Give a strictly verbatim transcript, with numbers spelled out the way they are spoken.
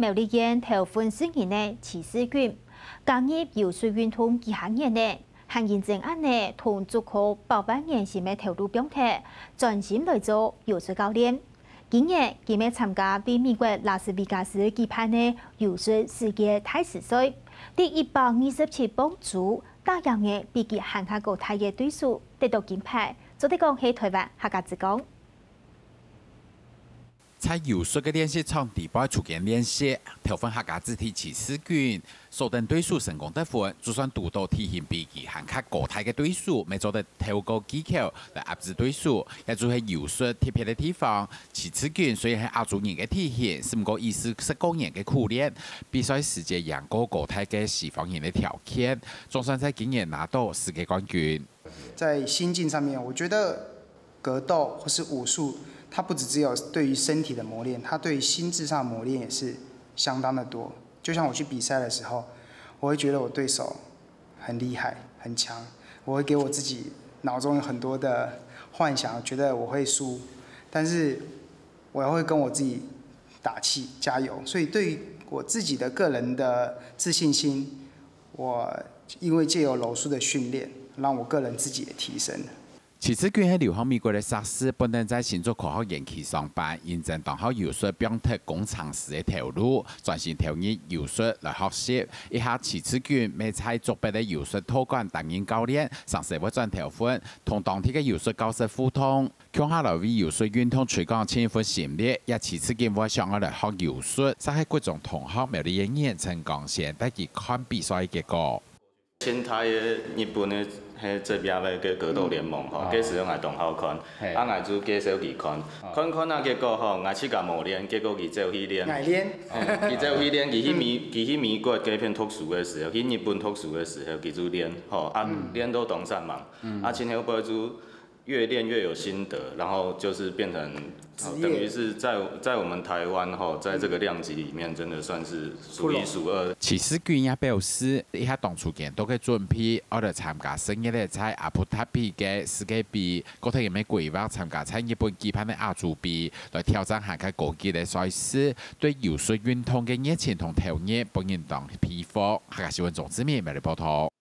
苗栗縣頭份市人个徐世鈞，加入柔術運動幾下年了，還因爭恁呢同足科百萬年薪个頭路放忒，專心來做柔術教練。今年佢乜參加在美國拉斯維加斯舉辦个柔術世界大師賽，在一百二十七磅組打贏个比佢還較高大个對手，得到金牌，做得講係台灣客家之光。 在柔術个練習場底背出間練習，頭份客家子弟徐世鈞，所等對手成功得分，就算堵到體型比佢還較高大个對手，乜做得透過技巧來壓制對手，這就係柔術特別个地方。徐世鈞雖然係亞洲人个體型，毋過佢係十過年个苦練，比賽時節贏過高大个西方人个條件，總算在今年拿到世界冠軍。 在心境上面，我覺得格鬥或是武術，它不只只有對於身體的磨練，它對於心智上的磨練也是相當的多。就像我去比賽的時候，我會覺得我對手很厲害、很強，我會給我自己腦中有很多的幻想，覺得我會輸，但是我會跟我自己打氣、加油。所以對於我自己的個人的自信心，我因為藉由柔術的訓練，讓我個人自己也提升了。 徐世鈞係留學美國个碩士，本等在新竹科學園區上班，因爭當好柔術放忒工程師个頭路，專心投入柔術來學習。這下徐世鈞乜在竹北个柔術道館擔任教練，成時會轉頭份，同當地个柔術教室互動，共下來為柔術運動推廣盡一份心力。這徐世鈞會想愛來學柔術，就係國中同學苗栗个人陳光先帶佢看比賽个結果。 清大个日本个迄職業个格鬥聯盟吼，該時候𠊎當好看，啊𠊎就介紹佢看，看看啊，結果吼，𠊎自家無練，結果佢走去練，愛練，佢走去練，佢去美佢去美國該片讀書个時候，去日本讀書个時候，佢就練吼，啊練到當煞猛，啊今後尾就越練越有心得，然後就是變成。 等於是在在我們台灣吼，在這個量級裡面，真的算是數一數二。徐世鈞也表示，這下當初間到个準備，愛來參加十月个在阿布達比个世界盃，過頭也乜規劃參加在日本舉辦个亞洲盃，來挑戰還較高級个賽事，對柔術運動个熱情同投入，分人當佩服。客家新聞鍾志明，苗栗報導。